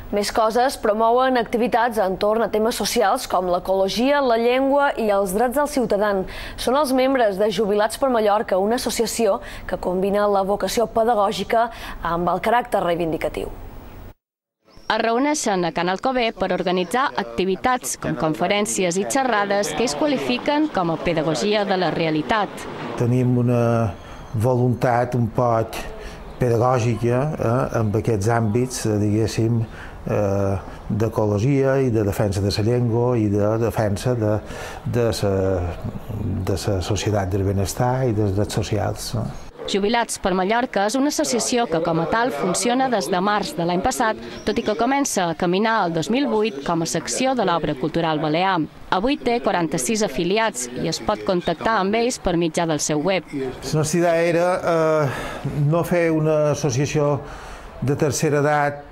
Més coses promouen activitats entorn a temes socials com l'ecologia, la llengua i els drets del ciutadà. Són els membres de Jubilats per Mallorca, una associació que combina la vocació pedagògica amb el caràcter reivindicatiu. Es reuneixen a Can Alcover per organitzar activitats com conferències i xerrades que ells qualifiquen com a pedagogia de la realitat. Tenim una voluntat un poc pedagògica en aquests àmbits, diguéssim, d'ecologia i de defensa de la llengua i de defensa de la societat del benestar i dels drets socials. Jubilats per Mallorca és una associació que com a tal funciona des de març de l'any passat, tot i que comença a caminar el 2008 com a secció de l'Obra Cultural Balear. Avui té 46 afiliats i es pot contactar amb ells per mitjà del seu web. La nostra idea era no fer una associació de tercera edat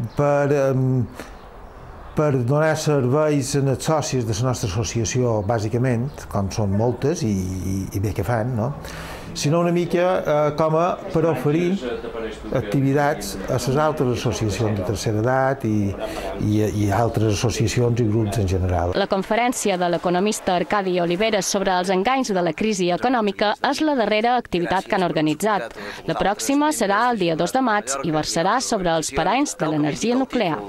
per donar serveis als socis de la nostra associació, bàsicament, com són moltes i bé que fan, sinó una mica com per oferir activitats a les altres associacions de tercera edat i altres associacions i grups en general. La conferència de l'economista Arcadi Oliveres sobre els enganys de la crisi econòmica és la darrera activitat que han organitzat. La pròxima serà el dia 2 de maig i versarà sobre els paranys de l'energia nuclear.